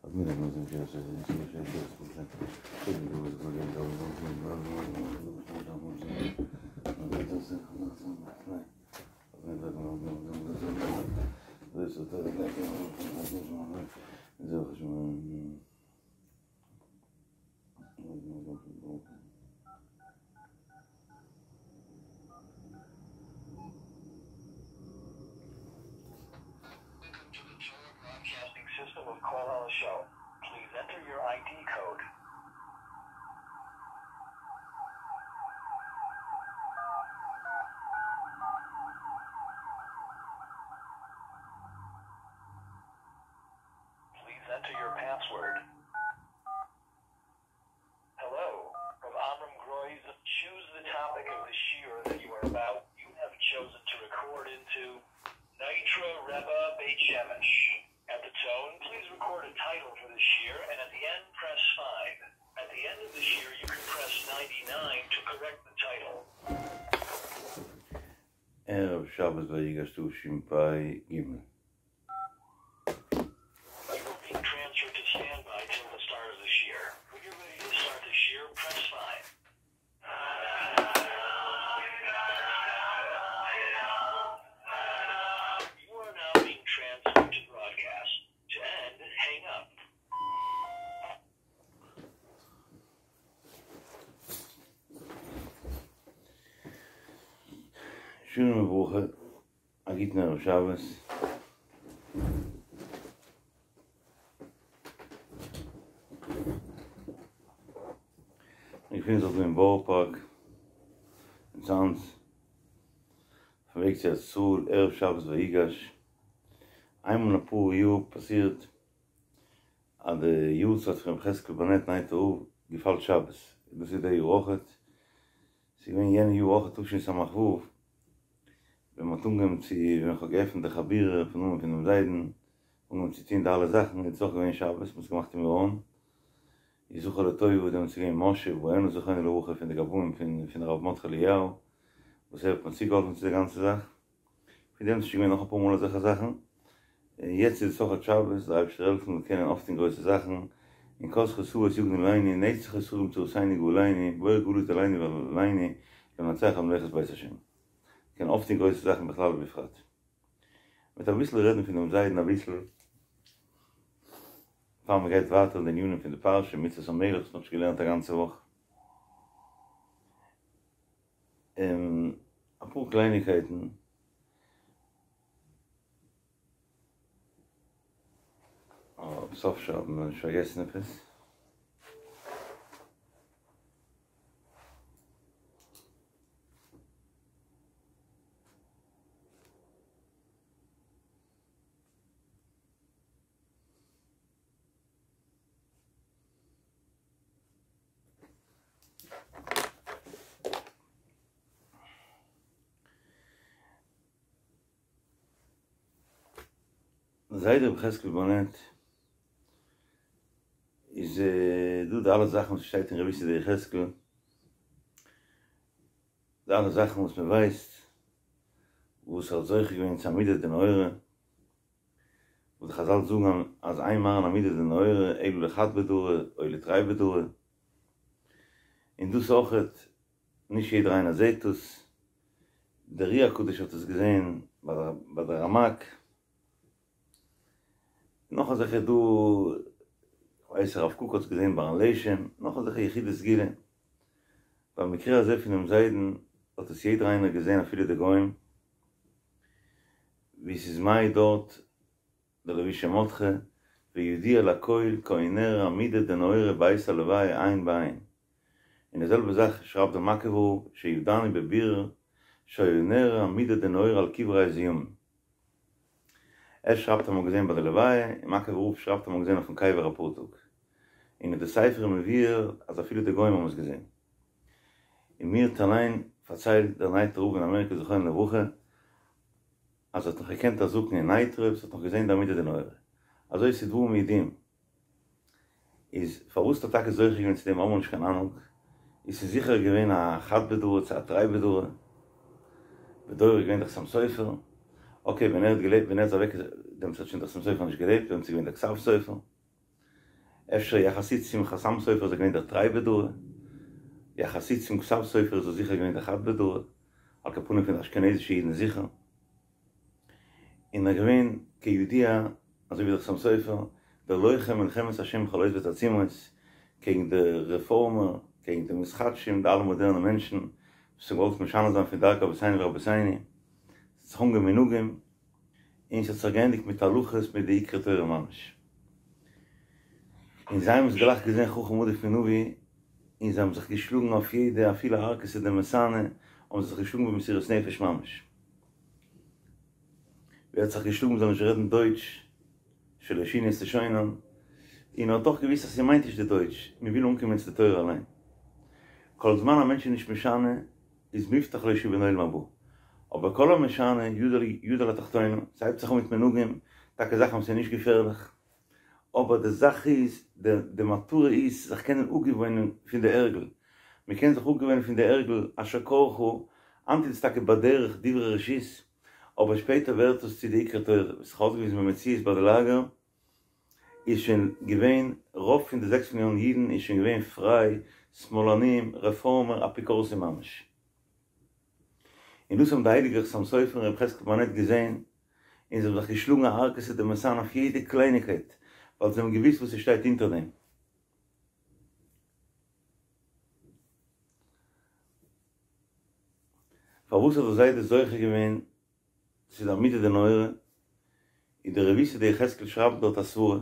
Welcome to the Torah Broadcasting System of Kol Show. Please enter your ID code. Please enter your password. Hello, from Amram Groys. Choose the topic of the shiur that you are about. You have chosen to record into Nitra Rebbe Beit Shemesh. At the tone, please record a title for the shiur, and at the end, press 5. At the end of the shiur, you can press 99 to correct the title. ערב שבת ויגש תשפ"ג. You are being transferred to standby till the start of the shiur. When you're ready to start the shiur, press 5. You are now being transferred to broadcast. To end, hang up. שלום וברכה, א גוטן ערב שבת. מיר געפינען זיך דא אין בארא פארק, אין צאנז, אויפן וועג צו ארץ ישראל, ערב שבת ויגש. איינמאל אין אפאר יאר פאסירט אז די יארצייט פון רבי חזקאל באנעט נייטרא רב געפאלט שבת, און דאס איז די יאר אויכעט, ס'איז געווען יענע יאר אויכעט תשס"ו, ווען מ'האט אנגעהויבן צו, ווען כ'האב געעפנט די חבורה אויפן נאמען פונעם זיידן, אנגעהויבן צו טון די אלע זאכן, איז עס אויך געווען שבת, מ'האט עס געמאכט אין מירון, איז זכור לטובה דעמאלטס איז געווען משה בויאנער זכרונו לברכה פון די גבאים פון פון הרב מרדכי אליהו, וואס ער האט מיר צוגעהאלפן צו די גאנצע זאך, פון דעם איז שוין געווען נאך אפאר מאל אזעלכע זאכן, און יעצט איז עס אויכעט שבת, דער אייבערשטער זאל העלפן מיר קענען אויפטון גרויסע זאכן, און כל זכות אבות יגנו עלינו, נצח ישראל צורתינו גאלינו, בור גלות דלינו ועלינו, למנצח על ממלכת בית השם. קען אויפטון גרויסע זאכן בכלל ובפרט. מ'וועט אביסל רעדן פון דעם זיידן אביסל, פאר מ'גייט ווייטער אין די ענינים פון די פרשה, מצוות המלך וואס מ'האט שוין געלערנט א גאנצע וואך. און אפאר קלייניקייטן. סוף שבת, מ'זאל נישט פארגעסן עפעס. זיידע רבי חזקאל באנעט איז דא די אלע זאכן וואס שטייט אין רבותא דיחזקאל, די אלע זאכן וואס מען ווייסט וואס ער האט זוכה געווען צו עמידה דנהורא, וואס די חזל זאגן אז אין מראין עמידה דנהורא אלא לחד בדרא או לתרי בדרא, און דאס אויכעט נישט יעדער איינער זעט דאס, דער אר"י הקדוש האט עס געזען ביי די רמק, נאך אזעלכע דא, כ'ווייס הרב קוק האט עס געזען ביי לשם, נאך אזעלכע יחידי סגולה, במקרה הזה פונעם זיידן האט עס יעדער איינער געזען אפילו די גוים, ווי ס'איז מעיד דארט דער לבושי מרדכי, וידוע לכל כי היה נראה עמודא דנהורא בעת הלוויה עין בעין. און די זעלבע זאך שרייבט דער מאקעווער רב שידענו בבירור שהיה נראה עמודא דנהורא על קברי זיהום. ער שרייבט אז מ'האט געזען ביי די לוויה, און מאקעווער רב שרייבט אז מ'האט געזען אויפן קבר אפאר טאג. און אין די ספר איז מבואר אז אפילו די גוים האבן עס געזען. און מיר האט אליין פארציילט דער נייטרא רב אין אמעריקע זכרונו לברכה אז ער האט נאך געקענט א זקן אין נייטרא וואס האט נאך געזען די עמודא דנהורא. אזוי ס'איז דברים ידועים. איז פארוואס האט ער טאקע זוכה געווען צו דעם האבן מיר נישט קיין אהנונג. איז ס'איז זיכער געווען א חד בדרא צו א תרי בדרא. בדורו איז געווען דער חתם סופר. אקעי ווען ער האט געלעבט ווען ער איז אוועק דעמאלטס האט שוין דער חתם סופר נישט געלעבט דעמאלטס איז געווען דער כתב סופר. אפשר יחסית צום חתם סופר איז ער געווען דער תרי בדרא, יחסית צום כתב סופר איז ער זיכער געווען דער חד בדרא, על כל פנים פון די אשכנזישע אידן זיכער. און ער איז געווען כידוע אזוי ווי דער חתם סופר, דער לוחם מלחמת השם בכל עת ותעצומות, קעגן די רעפארמער, קעגן די מתחדשים, די אלע מאדערנע מענטשן וואס האבן געוואלט משנה זיין פון דרכי אבותינו ורבותינו, ס'האט זיך אנגעהויבן מנהגים, און ס'האט זיך געענדיגט מיט הלכות מיט די עיקרי תורה ממש. און זיי האבן עס גלייך געזען חכם עדיף מנביא, און זיי האבן זיך געשלאגן אויף יעדע אפילו ערקתא דמסאנא, האבן זיי זיך געשלאגן במסירות נפש ממש. ווער האט זיך געשלאגן מ'זאל נישט רעדן דויטש, שלא שינו את לשונם, און ער האט דאך געוואוסט אז ס'מיינט נישט די דויטש, מ'וויל אנקומען צו די תורה אליין. כל זמן א מענטש איז נישט משנה, איז מובטח לו שהוא בן עולם הבא. אבער כל המשנה, ידו על התחתונה, ס'הייבט זיך אן מיט מנהגים, טאקע זאכן וואס איז נישט געפערליך, אבער די זאך איז, די מטרה איז זיך קענען אפגעוואוינען פון די הרגל, מען קען זיך אפגעוואוינען פון די הרגל אשר קרך, היינט איז עס טאקע בדרך דברי רשות, אבער שפעטער ווערט עס צו די עיקרי תורה, ווי ס'האט זיך אויסגעוויזן במציאות ביי די לאגער, איז שוין געווען, רוב פון די זעקס מיליאן אידן איז שוין געווען פריי, שמאלנים, רעפארמער, אפיקורסים ממש. און דאס האבן די הייליגע חתם סופר און רבי חזקל באנעט געזען, און זיי האבן זיך געשלאגן א ערקתא דמסאנא אויף יעדע קלייניגקייט, ווייל זיי האבן געוואוסט וואס עס שטייט אונטער דעם. פארוואס האט דער זיידע זוכה געווען צו די עמודא דנהורא? איז דער רבותא דיחזקאל שרייבט דארט א סברה.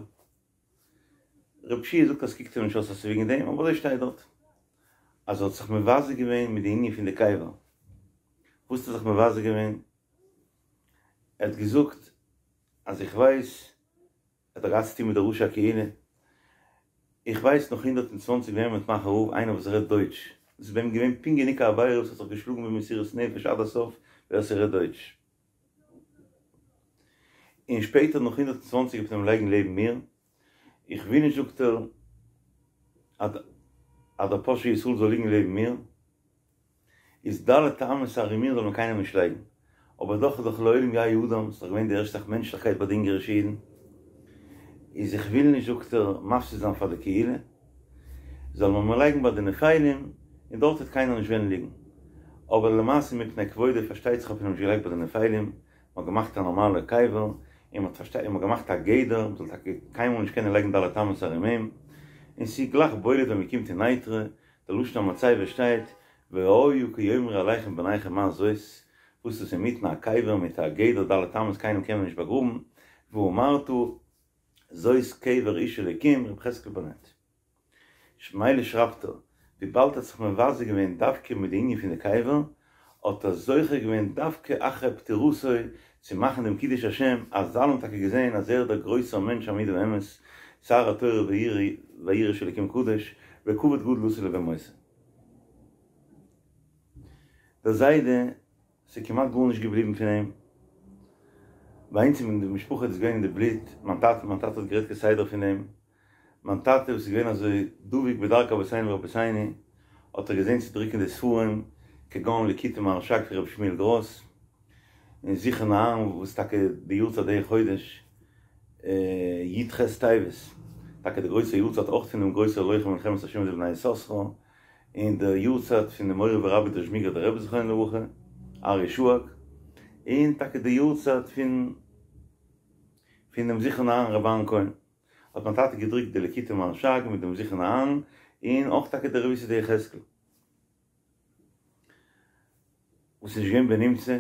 רב שיע זאגט אז ס'קוקט אים נישט אויס אז ס'איז וועגן דעם, אבער אזוי שטייט דארט. אז ער האט זיך מבזה געווען מיט די ענין פון די קבר. וואס האט ער זיך מבזה געווען? ער האט געזאגט אז איך ווייס, ער האט דאך געהאט צוטון מיט די ראשי הקהילה, איך ווייס נאך 120 וועם מ'וועט מאכן רב איינער וואס רעדט דויטש, דאס איז ביי אים געווען פונקט גענוג א עבירה וואס האט זיך געשלאגן במסירות נפש עד הסוף ווער ס'רעדט דויטש. און שפעטער נאך 120 וועט מען אים לייגן לעבן מיר, איך וויל נישט זאגט ער אז דער פושע ישראל זאל ליגן לעבן מיר. איז ד' אמות ארום מיר זאל מען קיינעם נישט לייגן, אבער דאך איז דאך לעולם יהא אדם, ס'איז דאך געווען די ערשטע זאך מענטשליכקייט ביי די אונגערישע אידן, איז איך וויל נישט זאגט ער מפסיד זיין פאר די קהילה, זאל מען מיר לייגן ביי די נפלים, און דארט וועט קיינער נישט וועלן ליגן, אבער למעשה מפני כבודו פארשטייט זיך האט מען אים נישט געלייגט ביי די נפלים, מען האט געמאכט א נארמאלע קבר, און מען האט פארשטייט מען האט געמאכט א גדר, מען זאל טאקע קיינמאל נישט קענען לייגן ד' אמות ארום אים, און ס'איז גלייך בולט ווען מען קומט אין נייטרא, די לשון המצבה שטייט, והיה כי יאמרו אליכם בניכם מה זאת, וואס איז אינמיטן א קבר מיט א גדר ד' אמות קיינעם קען מען נישט באגראבן, ואמרת זאת קבר איש אלוקים ר' חזקאל באנעט. מילא שרייבט ער, וויבאלד ער האט זיך מבזה געווען דווקא מיט די ענין פון די קבר, האט ער זוכה געווען דווקא אחרי פטירתו צו מאכן דעם קידוש השם, אז אלע האבן טאקע געזען אז ער איז דער גרויסער מענטש עמוד האמת, שר התורה והיראה של אלקים קדוש, וכבוד גדול עשו לו במותו. דער זיידע, ס'איז כמעט גארנישט געבליבן פון אים, ביי אונז אין די משפחה איז דאס געווען אין די בלוט, מיין טאטע, מיין טאטע האט גערעדט כסדר פון אים, מיין טאטע וואס איז געווען אזוי דבוק בדרכי אבותינו ורבותינו, האט ער געזען צו דרוקן די ספרים, כגון ליקוטי מהרש"ג פון רבי שמואל גראס, און זכרון אהרן וואס טאקע די יארצייט די חודש י"ח טבת, טאקע די גרויסע יארצייט אויך פון דעם גרויסער לוחם מלחמת השם די בני יששכר, און די יארצייט פון די מורי ורבי דער זשמיגראדער רבי זכרונו לברכה, אריה שאג, און טאקע די יארצייט פון פון דעם זכרון אהרן רבי אהרן כהן. האט מיין טאטע געדרוקט די ליקוטי מהרש"ג מיט דעם זכרון אהרן, און אויך טאקע די רבותא דיחזקאל. וואס איז נישט געווען בנמצא,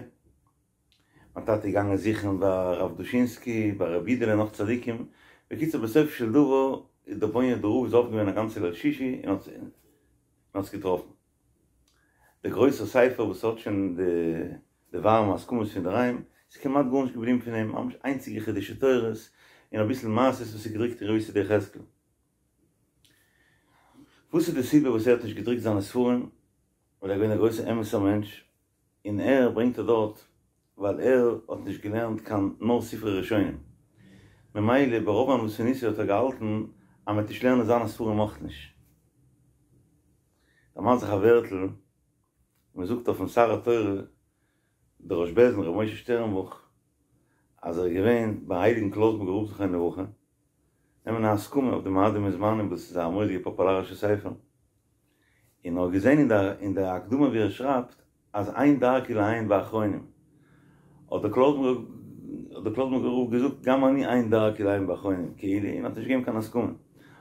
מיין טאטע איז געגאנגען זוכן ביי הרב דושינסקי, ביי רבי אידעלע נאך צדיקים, בקיצור בסופו של דבר איז דער בוניהאדער רב איז אויף געווען א גאנצע ליל שישי און האט עס געטראפן. דער גרויסער ספר וואס האט שוין די די ווארעמע הסכמות פון דערהיים, ס'איז כמעט גארנישט געבליבן פון אים, ממש איינציגע חידושי תורות און אביסל מעשיות וואס איז געדרוקט אין רבותא דיחזקאל. וואס איז די סיבה וואס ער האט נישט געדרוקט זיינע ספרים? ווייל ער איז געווען א גרויסער אמת'ער מענטש, און ער ברענגט ער דארט ווייל ער האט נישט געלערנט קיין נאר ספרי ראשונים, ממילא ברוב ענוותנותו האט ער געהאלטן אז מ'וועט נישט לערנען זיינע ספרים אויך נישט. דערמאנט זיך א ווערטל. מען זאגט אויפן שר התורה דער ראש בית דין ר' משה שטערנבוך אז ער איז געווען ביים הייליגן קלויזנבורגער רב זכרונו לברכה. נעמען א הסכמה אויף די מועדים און זמנים וואס איז א מורא'דיגע פאפולארישע ספר, און ער האט געזען אין די אין די הקדמה ווי ער שרייבט אז אין דרכי לעיין באחרונים, האט דער קלויזנבורגער רב געזאגט גם אני אין דרכי לעיין באחרונים, כאילו, און האט נישט געגעבן קיין הסכמה.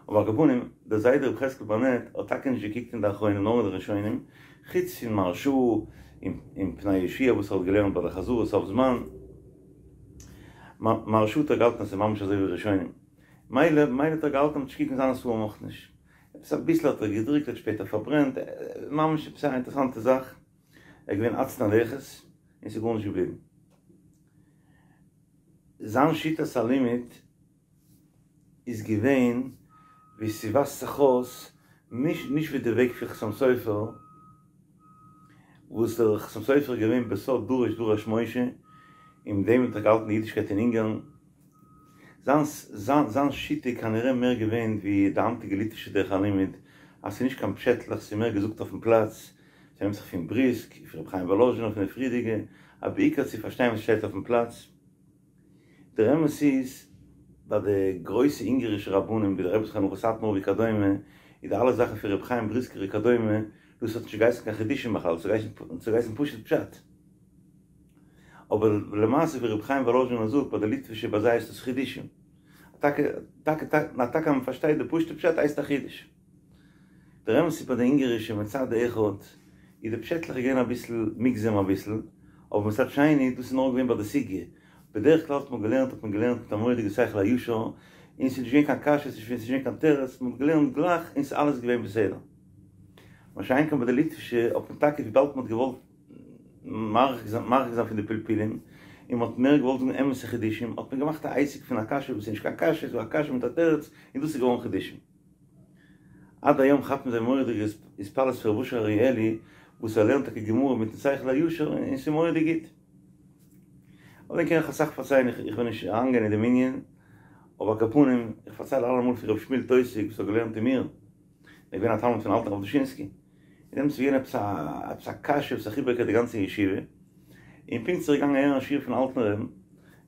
אבער על כל פנים, דער זיידע רבי חזקאל פארנעט האט טאקע נישט געקוקט אין די אחרונים נאר אין די ראשונים, חוץ פון מהרש"א און פני יהושע וואס ער האט געלערנט ביי די חזרה סוף זמן. מהרש"א האט ער געהאלטן אז ס'איז ממש אזוי ווי ראשונים. מילא מילא האט ער געהאלטן אז מ'טאר נישט קוקן זיינע ספרים אויך נישט. עפעס אביסל האט ער געדרוקט האט שפעטער פארברענט, ממש עפעס א אינטערעסאנטע זאך. ער איז געווען עצלן לכת און ס'איז גארנישט געבליבן. זיין שיטת הלימוד איז געווען ווי ס'ווייזט זיך אויס נישט נישט ווי די וועג פון חתם סופר, וואס דער חתם סופר איז געווען בסוד דורש דרש משה, און מיט דעם האט ער געהאלטן די אידישקייט אין אונגארן. זיין זיין זיין שיטה איז כנראה מער געווען ווי די היינטיגע ליטווישע דרך הלימוד, אז ס'איז נישט קיין פשעטלעך ס'איז מער געזאגט אויפן פלאץ, ס'נעמט זיך פון בריסק, פון רבי חיים וואלאזשינער פון די פריערדיגע, אז בעיקר צו פארשטיין וואס שטייט אויפן פלאץ. דער אמת איז, ביי די גרויסע אונגערישע רבנים ווי דער רבי זכרונו לברכה סאטמאר וכדומה, איז די אלע זאכן פון רבי חיים בריסקער וכדומה, דאס האט נישט געהייסן קיין חידושים בכלל, עס האט געהייסן פשוט פשט. אבער למעשה ווי רבי חיים וואלאזשינער זאגט ביי די ליטווישע ביי זיי הייסט עס חידושים. טאקע טאקע טאקע אז מען פארשטייט די פשוטע פשט הייסט א חידוש. דער אמת איז ביי די אונגערישע מצד אחד איז די פשעטלעך געווען אביסל מוגזם אביסל, אבער מצד שני דאס איז נאר געווען ביי די סוגיא, בדרך כלל האט מען געלערנט האט מען געלערנט מיט א מורא'דיגע שכל הישר, און ס'איז נישט געווען קיין קשיות ס'איז נישט געווען קיין תירוץ, מען האט געלערנט גלייך און ס'איז אלעס געווען בסדר. מה שאין כן ביי די ליטווישע האט מען טאקע וויבאלד מען האט געוואלט מרחיק זיין פון די פלפולים, און מען האט מער געוואלט זאגן אמת'ע חידושים, האט מען געמאכט א עסק פון א קשיא וואס איז נישט קיין קשיא, ס'איז א קשיא מיט א תירוץ, און דאס איז געווארן חידושים. עד היום כאפן זיי מורא'דיגע התפעלות פון ר' אשר אריאלי וואס ער לערנט טאקע גמרא מיטן שכל הישר און ס'איז מורא'דיג גוט. אויף דעם קען איך אסאך פארציילן, איך וויל נישט אריינגיין אין דעם ענין, אבער על כל פנים, איך פארצייל אלעמאל פון ר' שמואל טויסיג וואס האט געלערנט אין מיר, ער איז געווען א תלמיד פון אלטן רב דושינסקי, און דעמאלטס איז געווען עפעס א עפעס א קשיא וואס האט זיך איבערגעקערט די גאנצע ישיבה, און פונקט איז ער געגאנגען הערן א שיעור פון אלטן רעבן,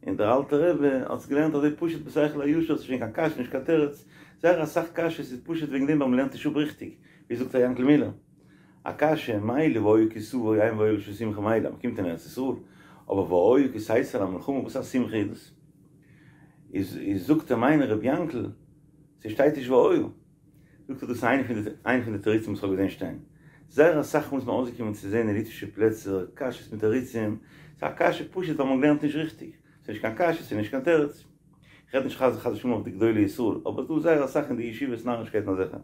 און דער אלטער רבי האט עס געלערנט אזוי פשוט בשכל הישר, ס'איז נישט געווען קיין קשיא נישט קיין תירוץ, זייער אסאך קשיות איז פשוט וועגן דעם ווייל מ'לערנט נישט אפ ריכטיג, ווי זאגט ר' יענקל מילער, א קשיא, מילא והיה כי תבוא אין והיה לשון שמחה מילא אז מ'קומט אין ארץ ישראל, אבער והיה כי תצא למלחמה וואס א שמחה איז דאס? איז איז זאגט אים איינער ר' יענקל, ס'שטייט נישט והיה. זאגט ער דאס איז איינע פון די איינע פון די תירוצים וואס כ'האב געזען שטיין. זייער אסאך מאל איז מיר אויסגעקומען צו זען אין ליטווישע פלעצער קשיות מיט תירוצים, ס'איז א קשיא פשוט ווייל מען לערנט נישט ריכטיג, ס'איז נישט קיין קשיא ס'איז נישט קיין תירוץ. כ'רעד נישט חס חס ושלום אויף די גדולי ישראל, אבער ס'דא זייער אסאך אין די ישיבות נארישקייטן אזעלכע.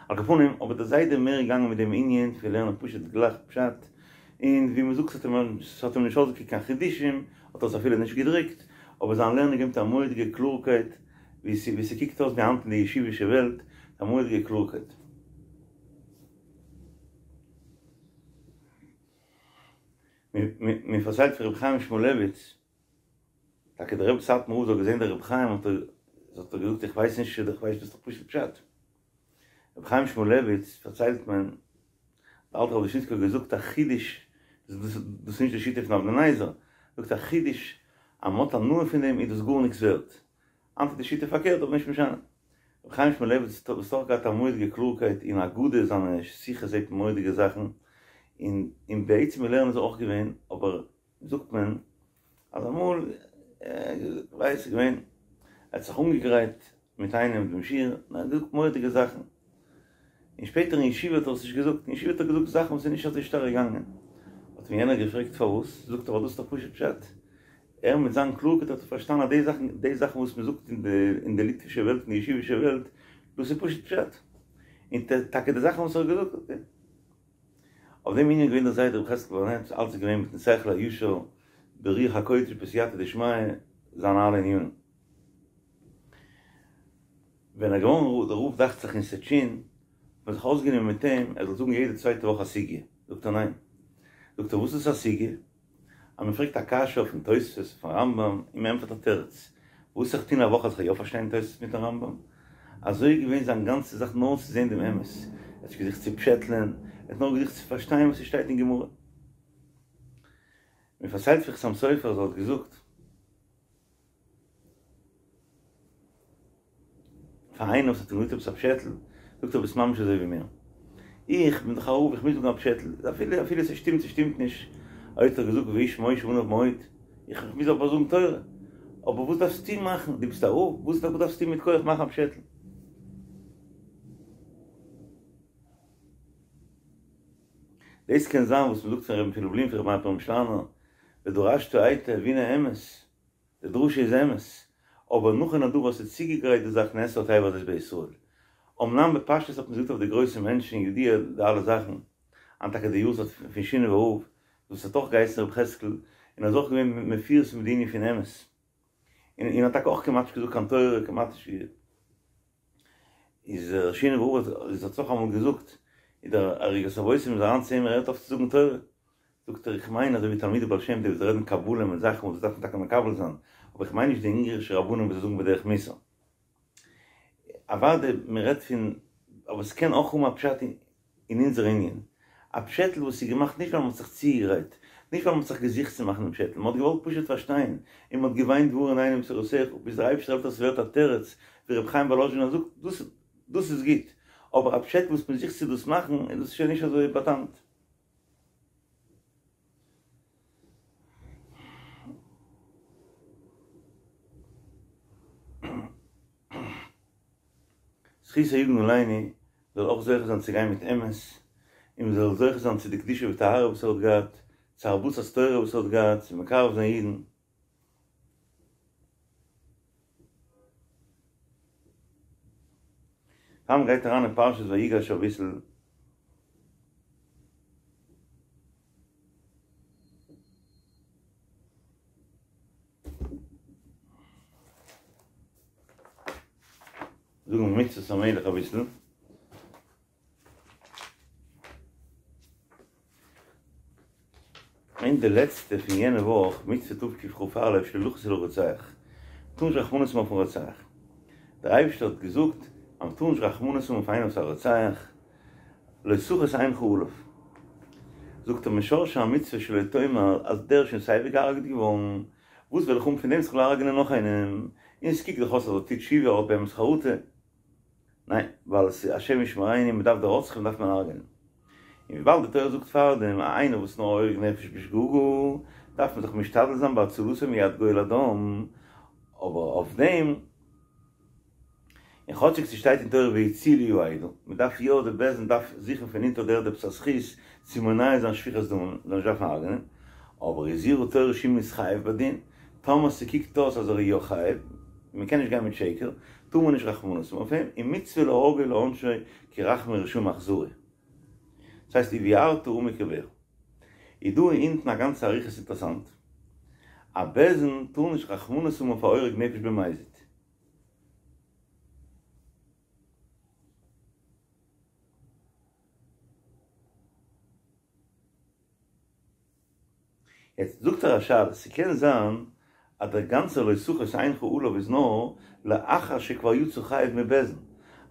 על כל פנים, אבער דער זיידע מער געגאנגען מיט דעם ענין פון לערנען פשוט גלייך פשט, און ווי מ'זאגט ס'האט אים ס'האט אים נישט אויסגעקוקט קיין חידושים, האט ער עס אפילו נישט געדרוקט, אבער זיין לערנען געבט א מורא'דיגע קלארקייט, ווי ס'קוקט אויס ווי היינט אין די ישיבישע וועלט, א מורא'דיגע קלארקייט. מען פארציילט פון רבי חיים שמואלעוויץ, טאקע דער רבי סאטמאר רב האט געזען דער רבי חיים האט ער האט ער געזאגט איך ווייס נישט איך ווייס דאס איז דאך פשוט פשט. רבי חיים שמואלעוויץ פארציילט מען, דער אלטער רב דושינסקי האט געזאגט א חידוש, דאס איז נישט די שיטה פון אבני נזר, זאגט א חידוש אז מען האט הנאה פון דעם איז דאס גארניקס ווערט, היינט איז די שיטה פארקערט אבער נישט משנה. רבי חיים שמואלעוויץ האט אויך געהאט א מורא'דיגע קלארקייט אין אגדה, זיינע שיחות זעט מען מורא'דיגע זאכן, און און בעצם אין לערנען איז ער אויך געווען, אבער זאגט מען אז אמאל כ'ווייס ס'איז געווען ער האט זיך אנגעגרייט מיט איינעם דעם שיעור און ער האט געזאגט מורא'דיגע זאכן, און שפעטער אין ישיבה האט ער עס נישט געזאגט, אין ישיבה האט ער געזאגט זאכן וואס איז נישט אזוי שטארק געגאנגען, האט אים יענער געפרעגט פארוואס, זאגט ער ווייל דאס איז דאך פשוט פשט, ער מיט זיין קלארקייט האט ער פארשטאנען אז די זאכן, די זאכן וואס מען זאגט אין די אין די ליטווישע וועלט, אין די ישיבישע וועלט, דאס איז פשוט פשט. און טאקע די זאכן וואס ער האט געזאגט, אקעי. אויף דעם ענין איז געווען דער זיידע רבי חזקל בארנעט, אלץ איז געווען מיטן שכל הישר, ברוח הקודש בסייעתא דשמיא, זיינע אלע ענינים. ווען ער איז געווארן דער רב דאכט זיך אין סטשין, האט מען זיך אויסגענומען מיט אים ער זאל זאגן יעדע צווייטע וואך א סוגיא, זאגט ער ניין. זאגט ער וואס איז א סוגיא? אז מען פרעגט א קשיא אויפן תוספות אויפן רמב ם און מען ענטפערט א תירוץ, וואס זיך טון א וואך אז איך גיי יא פארשטיין תוספות מיטן רמב ם? אזוי איז געווען זיין גאנצע זאך נאר צו זען דעם אמת, ער האט נישט געזוכט צו פשעטלען, ער האט נאר געזוכט צו פארשטיין וואס עס שטייט אין גמרא. מען פארציילט פון חתם סופר אז ער האט געזאגט. פאר איינעם וואס האט אים געזאגט עפעס א פשעטל, זאגט ער ביסט ממש אזוי ווי מיר. איך בין דאך א רב איך מוז זאגן א פשעטל, אפילו אפילו ס'שטימט ס'שטימט נישט, אוי האט ער געזאגט והאיש משה עניו מאוד, איך מוז אבער זאגן תורה, אבער וואס דארפסטו מאכן, דו ביסט א רב, וואס דארפסטו מיט כח מאכן א פשעטל? דאס קען זיין וואס מ'זאגט פון רבי פון לובלין פון רבי מאיר פרעמישלאנער, ודרשת היטב והנה אמת, די דרשה איז אמת, אבער נכון הדבר אז ס'איז צוגעגרייט די זאך נאסרה התיבה הזאת בישראל. אמנם בפשטות האט מען געזאגט אויף די גרויסע מענטשן ידוע די אלע זאכן, היינט טאקע די יארצייט פון שינאווער רב, וואס האט אויך געהייסן רבי חזקל, און איז אויך געווען מפורסם מיט די ענין פון אמת. און און האט טאקע אויך כמעט נישט געזאגט קיין תורה, כמעט נישט איז דער שינאווער רב האט האט אויך אמאל געזאגט, איז דער ערוגת הבושם איז אריין צו אים ער הערט אויף צו זאגן תורה, זאגט ער איך מיין אזוי ווי תלמידי בעל שם טוב וואס רעדן קבלה מיט זאכן וואס דאס דארף מען טאקע מקבל זיין, אבער איך מיין נישט די אונגערישע רבנים וואס זיי זאגן בדרך מוסר. אוודאי מען רעדט פון, אבער ס'קען אויך האבן א פשט אין אונזער ענין, א פשעטל וואס איז געמאכט נישט ווייל מען האט זיך צוגעגרייט, נישט ווייל מען האט זיך געזוכט צו מאכן דעם פשעטל, מען האט געוואלט פשוט פארשטיין, און מען האט געוויינט והאר עינינו בתורתך, ביז דער אייבערשטער העלפט אז ס'ווערט א תירוץ, ווי רבי חיים וואלאזשינער זאגט, דאס דאס איז גוט, אבער א פשעטל וואס מען זוכט צו דאס מאכן, איז דאס שוין נישט אזוי באטאמט. זכותו יגן עלינו זאל אויך זוכה זיין צו גיין מיט אמת, און מען זאל זוכה זיין צו די קדושה וטהרה וואס ער האט געהאט, צו הרבצת תורה וואס ער האט געהאט, צו מקרב זיין אידן. פאר מען גייט אריין אין פרשת ויגש אביסל. זאגן מצוות המלך אביסל. אין די לעצטע פון יענע וואך, מצוה תקכ"א, שלא לחוס על הרוצח. מ'טאר נישט רחמנות האבן אויפן רוצח. דער אייבערשטער האט געזאגט אז מ'טאר נישט רחמנות האבן אויף איינעם וואס איז א רוצח, לא תחוס עינך עליו. זאגט ער משרשי המצוה שלא תאמר אז דער איז שוין סייווי געהארגעט געווארן, וואס וועל איך האבן פון דעם אז כ'וועל הרג'נען נאך איינעם, און ס'קוקט דאך אויס אז ער טוט תשובה ער האט באמת חרטה. ניין, ווייל עס איז השם ישמרינו, מען דארף די רוצחים דארף מען הרג'נען. און וויבאלד די תורה זאגט פארדעם אז איינער וואס נאר הורג נפש בשגגה, דארף מען זיך משתדל זיין בהצלתו מיד גואל הדם, אבער אויף דעם, און כאטשיג ס'שטייט אין תורה והצילו העדה, מען דארף יא, די בית דין דארף זוכן פון אונטער די ערד עפעס א זכות צו מונע זיין שפיכת דמים, זאל נישט דארפן הרג'נען, אבער הזהירה תורה שאם נתחייב בדין, טאמער ס'קוקט אויס אז ער איז יא חייב, און מ'קען נישט גיין מיט שקר, טאר מען נישט רחמנות האבן אויף אים, און מצוה להורגו לעונשו כי רחמי רשעים אכזרי. דאס הייסט ובערת הרע מקרבך. איז דא אונטן א גאנצע אריכות אינטערעסאנט. א בית דין טאר נישט רחמנות האבן אויף א הורג נפש במזיד. יעצט זאגט ער א שאלה, ס'קען זיין אז דער גאנצער לא תחוס עינך עליו איז נאר לאחר שכבר יצא חייב מבית דין,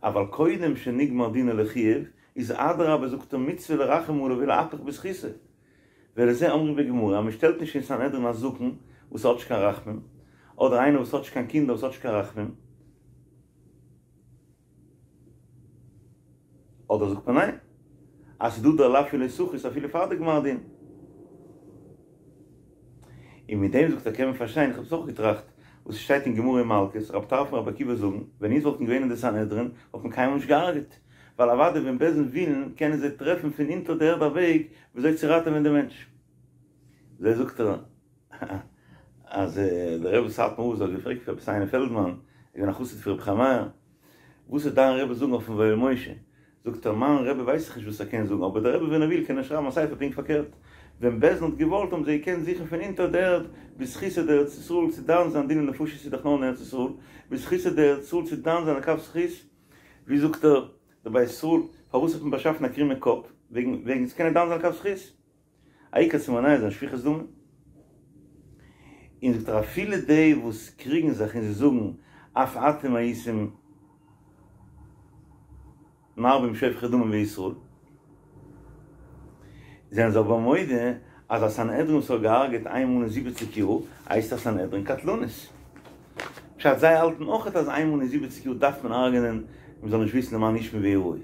אבל קודם שנגמר דינו לחיוב, איז אדרבה זאגט ער מצוה לרחם עליו ולהפך בזכותו. ולזה אומרים בגמרא, אז מ'שטעלט נישט אין סנהדרין א זקן וואס האט נישט קיין רחמים, אדער איינער וואס האט נישט קיין קינדער וואס האט נישט קיין רחמים, אדער זאגט מען ניין, אז ס'איז דא דער לאו פון לא תחוס אפילו פאר די גמר דין. און מיט דעם זאגט ער קען מען פארשטיין, איך האב עס אויך געטראכט, וואס ס'שטייט אין גמרא אין מלקות, רב טרפון און רבי עקיבא זאגן, ווען אונז וואלטן געווען אין די סנהדרין וואלט מען קיינמאל נישט געהארגעט, ווייל אוודאי ווען בית דין ווילן קענען זיי טרעפן פון אונטער די ערד א וועג וויאזוי צו ראטעווען די מענטש. אזוי זאגט ער אז דער רבי סאטמאר רב האט געפרעגט פון רבי סיני פעלדמאן, איז געווען א חסיד פון רבי חיים מאיר, וואס וועט דיין רבי זאגן אויפן ויואל משה? זאגט ער, מיין רבי ווייס איך נישט וואס ער קען זאגן, אבער דער רבי ווען ער וויל קען ער שרייבן א ספר פונקט פארקערט, ווען בית דין האט געוואלט האבן זיי געקענט זוכן פון אונטער די ערד בזכותא דארץ ישראל צו דן זיין דיני נפשות איז דאך נאר אין ארץ ישראל, בזכותא דארץ ישראל צו דן זיין לכף זכות, ווי זאגט ער דער בית ישראל, פארוואס האט מען באשאפן א קרומע קאפ? וועגן וועגן צו קענען דן זיין לכף זכות. העיקר צו מונע זיין שפיכות דמים. און זאגט ער אפילו די וואס קריגן זיך און זיי זאגן אף אתם הייתם מרבים שופכי דמים בישראל, זענען זיי אבער מודה אז א סנהדרין וואס האט געהארגעט איין מאל אין זיבעציק יאר הייסט א סנהדרין קטלנית. פשט זיי האלטן אויכעט אז איינמאל אין זיבעציג יאר דארף מען הרג'נען מען זאל נישט וויסן למען ישמעו ויראו.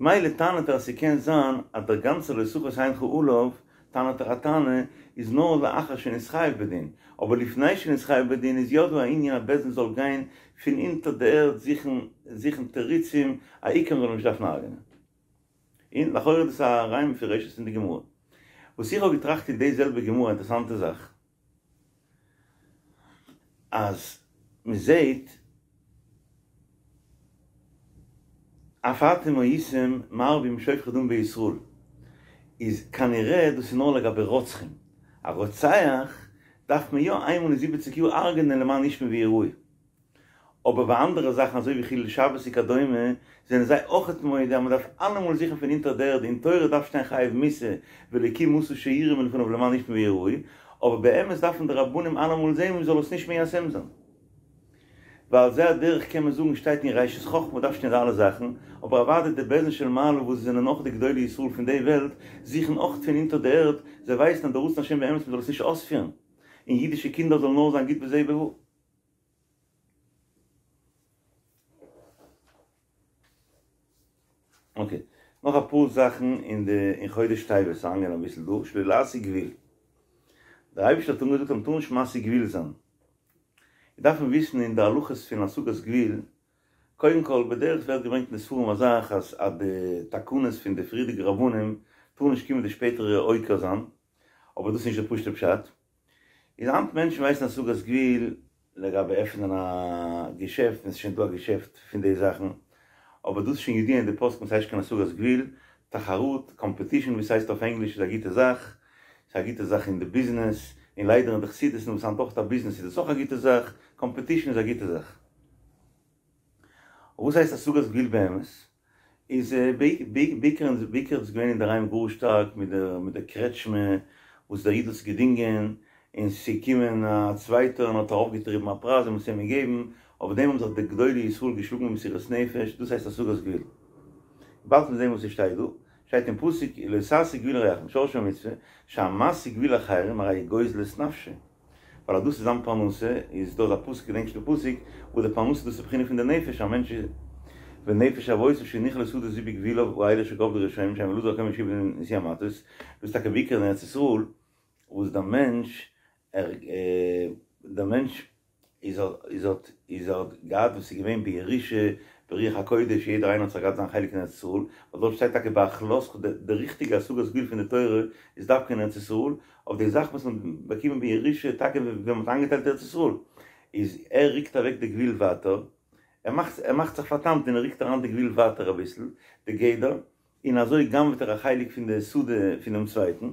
מילא טענה'ט ער אז ס'קען זיין אז דער גאנצער לא תחוס עינך עליו טענה'ט ער א טענה איז נאר לאחר שנתחייב בדין, אבער לפני שנתחייב בדין איז יא דא א ענין אז בית דין זאל גיין פון אונטער די ערד זוכן זוכן תירוצים א עיקר מ'זאל אים נישט דארפן הרג'נען. און לכאורה איז דאס א ראיה מפורשת אין די גמרא. וואס איך האב געטראכט אין די זעלבע גמרא א אינטערעסאנטע זאך. אז מ'זעהט אף אתם הייתם מרבים שופכי דם בישראל איז כנראה דאס איז נאר לגבי רוצחים, א רוצח דארף מען יא איינמאל אין זיבעציג יאר הרג'נען למען ישמעו ויראו. אבער ביי אנדערע זאכן אזוי ווי חילול שבת וכדומה זענען זיי אויכעט מודה אז מען דארף אלעמאל זוכן פון אונטער די ערד אין תורה דארף שטיין חייב מיתה ואלקים עשה שיראו מלפניו למען ישמעו ויראו אבער באמת דארפן די רבנים אלעמאל זען מען זאל עס נישט מיישם זיין ועל זה הדרך קען מען זאגן שטייט אין ראשית חכמה דארף שטיין די אלע זאכן אבער אוודאי די בית דין של מעלה וואס זענען אויך די גדולי ישראל פון די וועלט זוכן אויכעט פון אונטער די ערד זיי ווייסן אז די רצון השם באמת מען זאל עס נישט אויספירן און אידישע קינדער זאלן נאר זיין גוט בזה ובבא. אקעי, נאך אפאר זאכן אין די אין חודש טבת אריינגיין אביסל דא, שלא להשיג גבול. דער אייבערשטער האט אנגעזאגט אז מ'טאר נישט משיג גבול זיין. דארף מען וויסן אין די הלכות פון השגת גבול, קודם כל בדרך ווערט געברענגט אין די ספרים א זאך אז אז די תקנות פון די פריערדיגע רבנים טאר נישט קומען די שפעטערע עוקר זיין, אבער דאס איז נישט די פשוט'ע פשט. איז היינט מענטשן ווייסן השגת גבול לגבי עפענען א געשעפט ווען ס'איז שוין דא א געשעפט פון די זאכן, אבער דאס איז שוין ידוע אין די פוסקים ס'הייסט נישט קיין השגת גבול, תחרות, קאמפעטישן ווי ס'הייסט אויף ענגליש איז א גוטע זאך, ס'איז א גוטע זאך אין די ביזנעס, און ליידער אין די חסידות'ן וואס היינט אויך א ביזנעס איז דאס אויך א גוטע זאך, קאמפעטישן איז א גוטע זאך. וואס הייסט השגת גבול באמת? איז בעיקר בעיקר איז געווען אינדערהיים גאר שטארק מיט די מיט די קרעטשמע וואס דער איד האט עס געדינגען און ס'איז געקומען א צווייטער און האט ארויפגעטריבן א פרייז און מ'האט עס אים געגעבן, אויף דעם האבן זיך די גדולי ישראל געשלאגן במסירות נפש, דאס הייסט השגת גבול. באלד מיר זעהן וואס ס'שטייט דא, שטייט אין פסוק לא תשיג גבול לרעך משרשי המצוה שהמשיג גבול אחרים הרי הוא גוזל את נפשו. ווייל אז דאס איז זיין פרנסה, איז דא א פסוק, געדענק נישט די פסוק, וואו די פרנסה דאס איז בחינה פון די נפש, א מענטש איז ונפש אבותיו שהניחה לו שדה זו בגבולו האלה אשר גבלו רשעים שהם אלעזר הכהן ויהושע בן נון נשיאי המטות, דאס איז טאקע בעיקר אין ארץ ישראל, וואס דער מענטש ער דער מענטש איז איז האט איז ער האט געהאט וואס איז געווען בירושה ברוח הקודש יעדער איינער האט זיך געהאט זיין חלק אין ארץ ישראל, ווייל דארט שטייט טאקע בהחלתך די ריכטיגע השגת גבול פון די תורה איז דווקא אין ארץ ישראל, אויף די זאך וואס מ'האט באקומען בירושה טאקע ווען מ'האט איינגעטיילט ארץ ישראל, איז ער רוקט אוועק די גבול ווייטער, ער מאכט ער מאכט זיך פאר'תמ'ט און ער רוקט אריין די גבול ווייטער אביסל, די גדר, און אזוי גנב'ט ער א חלק פון די שדה פונעם צווייטן,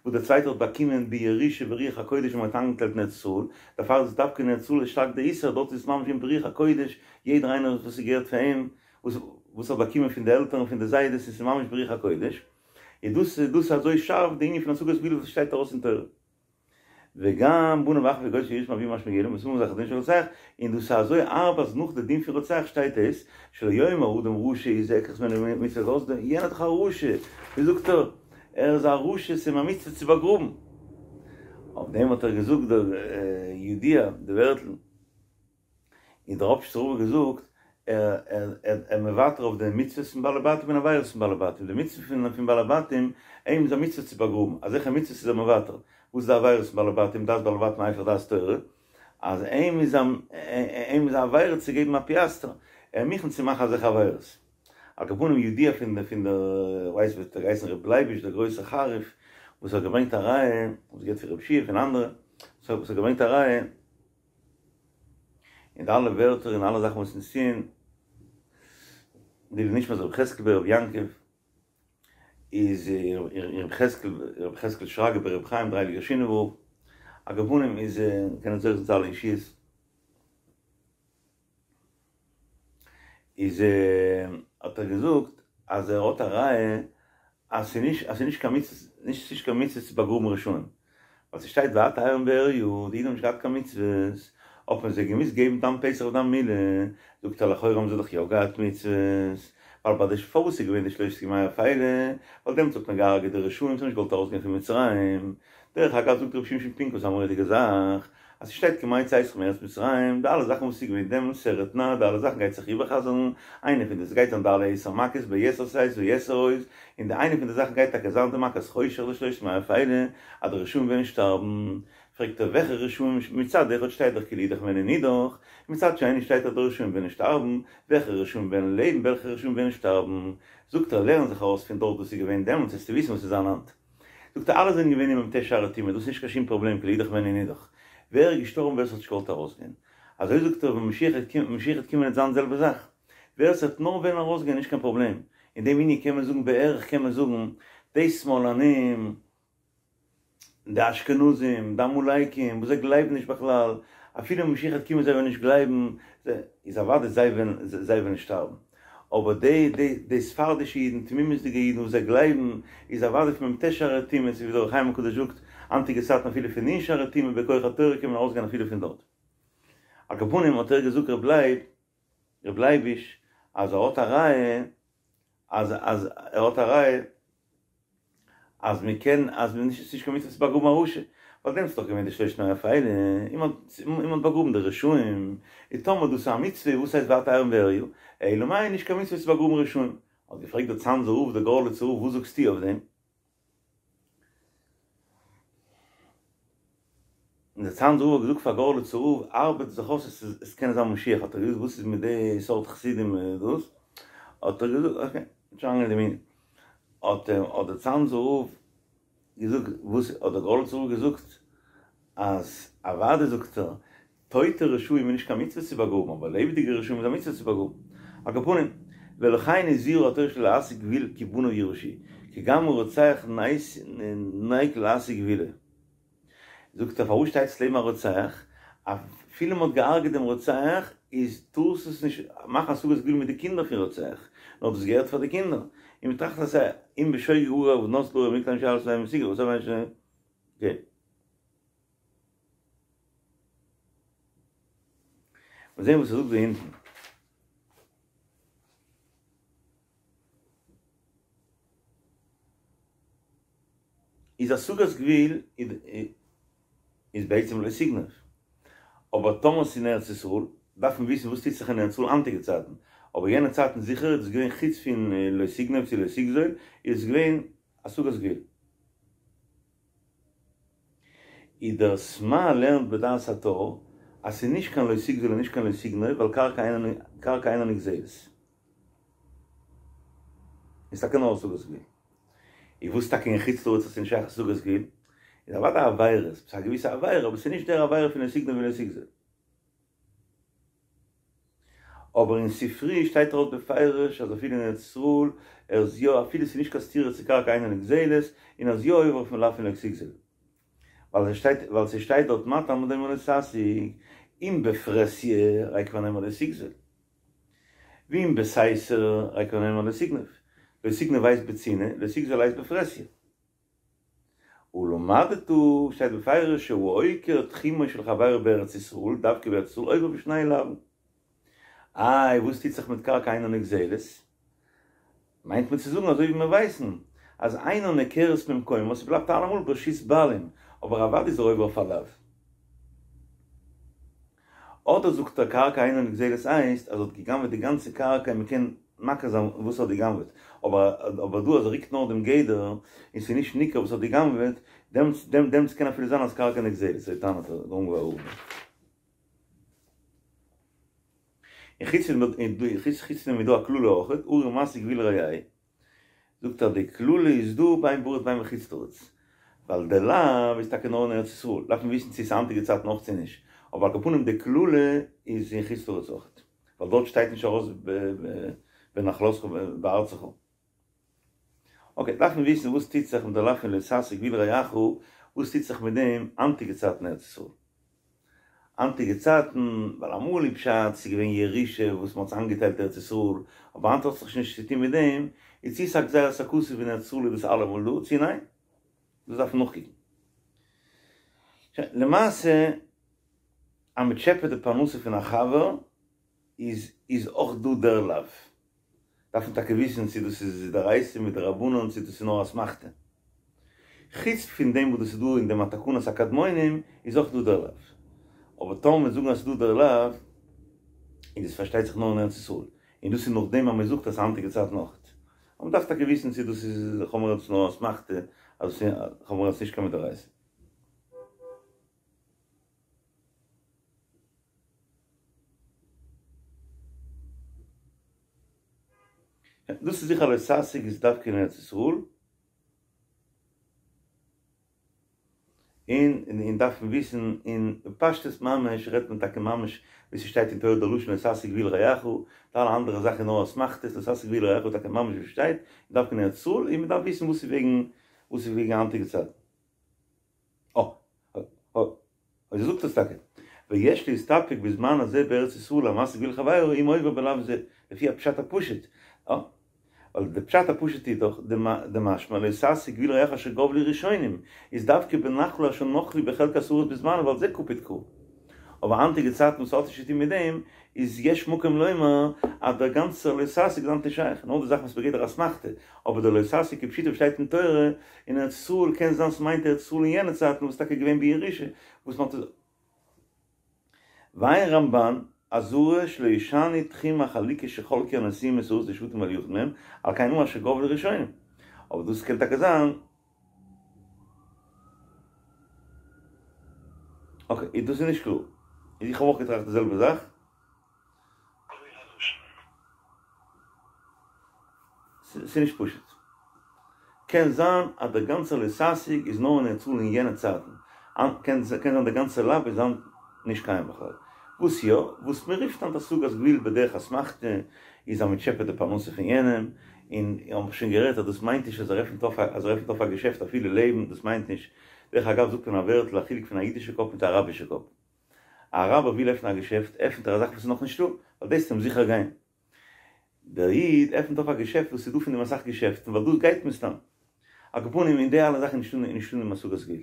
וואס דער צווייטער האט באקומען בירושה ברוח הקודש ווען מ'האט איינגעטיילט אין ארץ ישראל, דערפאר איז דווקא אין ארץ ישראל איז שטארק די איסור, דארט איז עס ממש אין ברוח הקודש, יעדער איינער וואס ס'געהערט פאר אים, וואס האט באקומען פון די עלטערן פון די זיידעס און ס'איז ממש ברוח הקודש. איז דאס איז דאס אזוי שארף די ענין פון השגת גבול וואס שטייט ארויס אין תורה. וגם בניו אחריו יגוזלו שירש מאביו ממש מגולם ושמים על זכר דין של רוצח, און דאס איז אזוי הארב אז נאך די דין פון רוצח שטייט עס, שלא יאמר אדם רשע הוא זה אקח ממנו מצוה זאלסט דען, יענער איז דאך א רשע, ווי זאגט ער, ער איז א רשע ס'איז אים א מצוה צו באגראבן. אויף דעם האט ער געזאגט דער ידוע די ווערטל. און דער ראפשיצער רב האט געזאגט, ער ער מוותר אויף די מצוות פון בעלי בתים און עבירות פון בעלי בתים, די מצוה פון פון בעלי בתים, אים איז א מצוה צו באגראבן, אזעלכע מצוות איז ער מוותר, וואס איז די עבירות פון בעלי בתים, דעת בעלי בתים היפך דעת תורה, אז אים איז א אים איז א עבירה צו געבן א פיאסטער, ער מוכן צו מאכן אזעלכע עבירות. על כל פנים ידוע פון די פון די ווייסט ווי האט ער געהייסן ר' לייביש דער גרויסער חריף וואס האט געברענגט א ראיה, וואס געהערט פון רב שיע פון אנדערע, וואס האט געברענגט א ראיה, און די אלע ווערטער און אלע זאכן וואס אונז טוען, לעילוי נשמת רבי חזקאל ברבי יעקב, איז רבי חזקאל, רבי חזקאל שרגא ברבי חיים דער הייליגער שינאווער רב, על כל פנים איז קען זוכה זיין צו אלע ישועות, איז האט ער געזאגט אז ער האט א ראיה אז ס'איז נישט אז ס'איז נישט קיין מצוה נישט ס'נישט קיין מצוה צו באגראבן רשעים, ווייל ס'שטייט ואת ערום ועריה, די אידן האבן נישט געהאט קיין מצוות, האט מען זיי געמוזט געבן דם פסח ודם מילה, זאגט ער לכאורה האבן זיי דאך יא געהאט מצוות, ווייל ביי די פארוואס איז געווען די שלושת ימי אפילה, ווייל דעמאלטס האט מען געהארגעט די רשעים, זיי האבן נישט געוואלט ארויסגיין פון מצרים. דרך אגב זאגט רבי שמשון פינקוס א מורא'דיגע זאך, אז ס'שטייט כימי צאתך מארץ מצרים, די אלע זאכן וואס איז געווען דעמאלטס סרט נע, די אלע זאכן גייט זיך איבערחזר'ן, איינע פון די ס'גייט זיין די אלע עשר מכות ביתר שאת ויתר עוז, און די איינע פון די זאכן גייט טאקע זיין די מכת חושך די שלושת ימי אפילה, אז די רשעים וועלן שטארבן, פרעגט ער וועלכע רשעים, מצד אחד שטייט דאך כי לאידך וועלן נידח, און מצד שני שטייט אז די רשעים וועלן שטארבן, וועלכע רשעים וועלן לעבן וועלכע רשעים וועלן שטארבן, זאגט ער לערן זיך ארויס פון דארט וואס איז געווען דעמאלטס וועסטו וויסן וואס איז זיין היינט. זאגט ער אלע זענען געווען אין מ"ט שערי טומאה דאס איז נישט קיין שום פראבלעם כי לאידך והני נידח ווער איז געשטארבן ווער עס האט נישט געוואלט ארויסגיין אזוי זאגט ער ווען משיח וועט קומען משיח וועט קומען וועט זיין די זעלבע זאך ווער עס וועט נאר וועלן ארויסגיין נישט קיין פראבלעם אין דעם ענין קען מען זאגן בערך קען מען זאגן די שמאלנים די אשכנזים, די עמלקים, וואס זיי גלייבן נישט בכלל, אפילו משיח וועט קומען זיי וועלן נישט גלייבן, איז אוודאי זיי וועלן זיי וועלן שטארבן. אבער די די די ספרדישע אידן, תמימות'דיגע אידן וואס זיי גלייבן, איז אוודאי פון מ"ט שערי טומאה, אזוי ווי דער אור החיים הקדוש זאגט, היינטיגע צייטן אפילו פון נ' שערי טומאה בכח התורה קען מען ארויסגיין אפילו פון דארט. על כל פנים האט ער געזאגט ר' לייב, ר' לייביש, אז ער האט א ראיה אז אז ער האט א ראיה אז מען קען אז מען נישט ס'נישט קיין מצוה צו באגראבן א רשע, ווייל דעמאלטס איז דאך געווען די שלושת ימי אפילה, און מען האט און מען האט באגראבן די רשעים, און טאמער דאס איז א מצוה וואס הייסט ואת ערום ועריה, אלא מאי נישט קיין מצוה צו באגראבן רשעים. האט געפרעגט דער צאנזער רב דער גארליצער רב וואס זאגסטו אויף דעם? און דער צאנזער רב האט געזאגט פאר גארליצער רב ארבעט זיך אויס עס איז עס קען זיין משיח האט ער געזאגט וואס איז מיט די סארט חסידים דאס האט ער געזאגט אקעי נישט אריינגיין אין דעם ענין האט האט דער צאנזער רב געזאגט וואס האט דער גארליצער רב געזאגט אז אוודאי זאגט ער טויטע רשעים איז נישט קיין מצוה צו באגראבן, אבער לעבעדיגע רשעים איז א מצוה צו באגראבן. על כל פנים, ולכן הזהירה התורה שלא להסיג גבול כי בניו יירשו, כי גם הרוצח נוהג להסיג גבולו. זאגט ער פארוואס שטייט עס לעבן א רוצח? אפילו מען האט געהארגעט דעם רוצח איז טארסט עס נישט מאכן השגת גבול מיט די קינדער פון רוצח, נאר דאס געהערט פאר די קינדער. און מען טראכט אז אם בשוגג הרגו ונתנו ל. מיר זעהן וואס ער זאגט דא אונטן. איז השגת גבול איז בעצם לא תגנוב. אבער טאמער ס'איז אין ארץ ישראל, דארף מען וויסן וואס טוט זיך אין ארץ ישראל היינטיגע צייטן. אבער יענע צייטן זיכער איז עס געווען חוץ פון לא תגנוב צו לא תגזול, איז עס געווען השגת גבול. איז דער סמ"ע לערנט בדעת הטור אז ס'איז נישט קיין לא תגזול און נישט קיין לא תגנוב ווייל קרקע אינה נגזלת. איז טאקע נאר השגת גבול. איז וואס טאקע אין חוץ לארץ אז ס'איז נישט שייך השגת גבול? איז אוודאי עבירות, ס'איז א געוויסע עבירה אבער ס'איז נישט דער עבירה פון לא תגנוב ולא תגזול. אבער אין ספרי שטייט ארויס בפירוש אז אפילו אין ארץ ישראל ער איז יא אפילו ס'איז נישט קיין סתירה צו קרקע אינה נגזלת און ער איז יא עובר אויפן לאו פון לא תגזול ווייל ס'שטייט ווייל ס'שטייט דארט מה תלמוד לומר לא תשיג אם בפרהסיא הרי כבר נאמר לא תגזול ואם בסתר הרי כבר נאמר לא תגנוב לא תגנוב הייסט בצנעה לא תגזול הייסט בפרהסיא. ולמדת שטייט בפירוש שהוא עוקר תחומו של חברו בארץ ישראל, דווקא בארץ ישראל עובר בשני לאווין. איי וואס טוט זיך מיט קרקע אינה נגזלת? מיינט מען צו זאגן אזוי ווי מיר ווייסן אז אינה נעקרת ממקומה ס'בלייבט אלעמאל ברשות בעלים, אבער אוודאי איז ער עובר אויף א לאו. אדער זאגט ער קרקע אינה נגזלת הייסט אז ער האט געגנבעט די גאנצע קרקע און מ'קען מכיר זיין וואס ער האט געגנבעט, אבער דא אז ער ריקט נאר דעם גדר און ס'איז נישט ניכר וואס ער האט געגנבעט, דעמאלטס קען אפילו זיין אז קרקע נגזלת, אזוי טענה'ט דער אונגווארער רב. און חוץ פון דעם איז דא א קללה אויכעט, ארור מסיג גבול רעהו. זאגט ער די קללה איז דא בין בארץ בין בחוץ לארץ, ווייל די לאו איז טאקע נאר אין ארץ ישראל, דארף מען וויסן צו עס איז היינטיגע צייטן אויך צו נישט, אבער על כל פנים די קללה איז אין חוץ לארץ אויך, ווייל דארט שטייט נישט ארויס בנחלתך בארצך. אקעי, דארף מען וויסן וואס טוט זיך מיט די לאו פון לא תסיג גבול רעך, וואס טוט זיך מיט דעם היינטיגע צייטן אין ארץ ישראל. היינטיגע צייטן, ווייל אמאל איז פשט ס'איז געווען ירושה וואס מ'האט איינגעטיילט ארץ ישראל, אבער היינט האט זיך נישט צוטון מיט דעם, איז צו ס'איז א גזירת הכתוב אין ארץ ישראל איז דאס אלעמאל דא, צו ניין? דאס דארף מען נאכקוקן. שוין, למעשה אז מ'טשעפעט די פרנסה פון א חבר איז איז אויך דא דער לאו. דארף מען טאקע וויסן צו דאס איז דאורייתא מדרבנן צו דאס איז נאר אסמכתא. חוץ פון דעם וואס דאס איז דא אין דעם א תקנת הקדמונים איז אויך דא דער לאו. אבער טאמער מיר זאגן אז ס'איז דא דער לאו, איז דאס פארשטייט זיך נאר אין ארץ ישראל, און דאס איז נאכדעם אז מען זאגט אז היינטיגע צייטן אויך. אבער מ'דארף טאקע וויסן צו דאס איז לכאורה נאר אסמכתא, אז לכאורה איז נישט קיין מדאורייתא. דאס איז זיכער לא תשיג איז דווקא אין ארץ ישראל, און און דארף מען וויסן אין פשטות ממש רעדט מען טאקע ממש ווי ס'שטייט אין תורה די לשון לא תשיג גבול רעך, די אלע אנדערע זאכן איז נאר אסמכתות, לא תשיג גבול רעך איז טאקע ממש ווי ס'שטייט, דווקא אין ארץ ישראל, און מ'דארף וויסן וואס איז וועגן וואס איז וועגן היינטיגע צייטן. אה. אה. אזוי זאגט עס טאקע. ויש להסתפק בזמן הזה בארץ ישראל המשיג גבול חבירו אם עובר בלאו זה, לפי הפשט הפשוט. אה. ווייל די פשט הפשוט איז דאך דמשמע לא תשיג גבול רעך אשר גבלו ראשונים, איז דווקא בנחלה אשר נחלו בחלקת הארץ בזמנו ועל זה קפיד קרא. אבער היינטיגע צייטן וואס האט נישט צוטון מיט דעם, איז יש מקום לומר אז דער גאנצער לא תשיג איז היינט נישט שייך, נאר די זאך וואס בגדר אסמכתא, אבער דער לא תשיג כפשוטו וואס שטייט אין תורה אין ארץ ישראל קען זיין ס'מיינט ארץ ישראל אין יענע צייטן וואס איז טאקע געווען בירושה וואס מ'האט ועיין רמב"ן, אזהרה שלא ישנו תחום החלוקה שחלקו הנשיאים את הארץ לשבטים על יחיד מהם, על כן אמר אשר גבלו ראשונים. אבער דאס קען טאקע זיין. אקעי, דאס איז נישט קלאר. איך האב אויך געטראכט די זעלבע זאך. ס'איז נישט פשוט. קען זיין אז דער גאנצער לא תשיג איז נאר אין ארץ ישראל אין יענע צייטן. קען זיין דער גאנצער לאו איז היינט נישט קיים בכלל. וואס יא, וואס מען רופט היינט השגת גבול בדרך אסמכתא, איז אז מען טשעפעט די פרנסה פון יענעם, און האב איך שוין גערעדט אז דאס מיינט נישט אז ער עפנט אויף אז ער עפנט אויף א געשעפט אפילו לעבן, דאס מיינט נישט. דרך אגב זאגט מען א ווערטל א חילוק פון א אידישע קאפ מיט א אראבישע קאפ. א אראבער וויל עפענען א געשעפט, עפענט ער א זאך וואס איז נאך נישטא, ווייל דאס וועט אים זיכער גיין. דער איד עפענט אויף א געשעפט וואס איז דא פון דעם אסאך געשעפטן, ווייל דאס גייט מסתם. על כל פנים, אין די אלע זאכן איז נישטא דעם השגת גבול.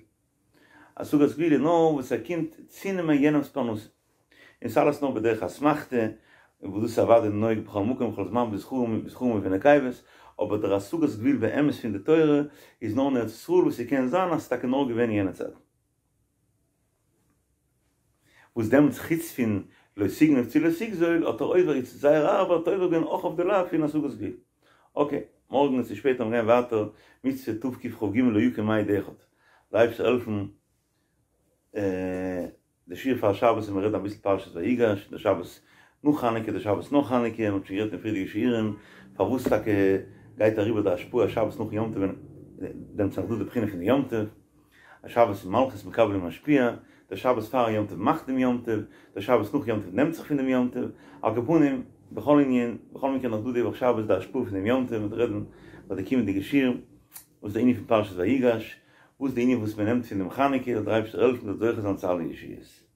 השגת גבול איז נאר וואס ער קומט צונעמען יענעמ'ס פרנסה. און ס'איז אלעס נאר בדרך אסמכתא, וואס דאס איז אוודאי נוהג בכל מקום ובכל זמן בזכרים בזכרים ובנקבות, אבער דער השגת גבול באמת פון די תורה איז נאר אין ארץ ישראל וואס ס'קען זיין אז ס'איז טאקע נאר געווען אין יענע צייט. וואס דעמאלטס חוץ פון לא תגנוב צו לא תגזול האט ער עובר איז זייער הארב האט ער עובר געווען אויך אויף די לאו פון השגת גבול. אקעי, מארגן צו שפעטער מיר גייען ווייטער מצוה תקכ"ג לא יקום עד אחד. דער אייבערשטער העלפן די שיעור פאר שבת און מיר רעדן אביסל פרשת ויגש, די שבת נאך חנוכה, די שבת נאך חנוכה, מ'האט שוין גערעדט אין פריערדיגע שיעורים פארוואס טאקע גייט אריבער די השפעה שבת נאכן יום טוב ווען דעמאלטס איז נאך דא די בחינה פון די יום טוב, א שבת איז מלכות מקבל ומשפיע, דער שבת פארן יום טוב מאכט דעם יום טוב, דער שבת נאך יום טוב נעמט זיך פון דעם יום טוב, על כל פנים, בכל ענין, בכל מקרה נאך דא די וואך שבת די השפעה פון דעם יום טוב, מ'וועט רעדן ביי די קומענדיגע שיעור, וואס איז די ענין פון פרשת ויגש, וואס איז די ענין וואס מען נעמט פון דעם חנוכה, זאל דער אייבערשטער העלפן מ'זאל זוכה זיין צו אלע ישועות.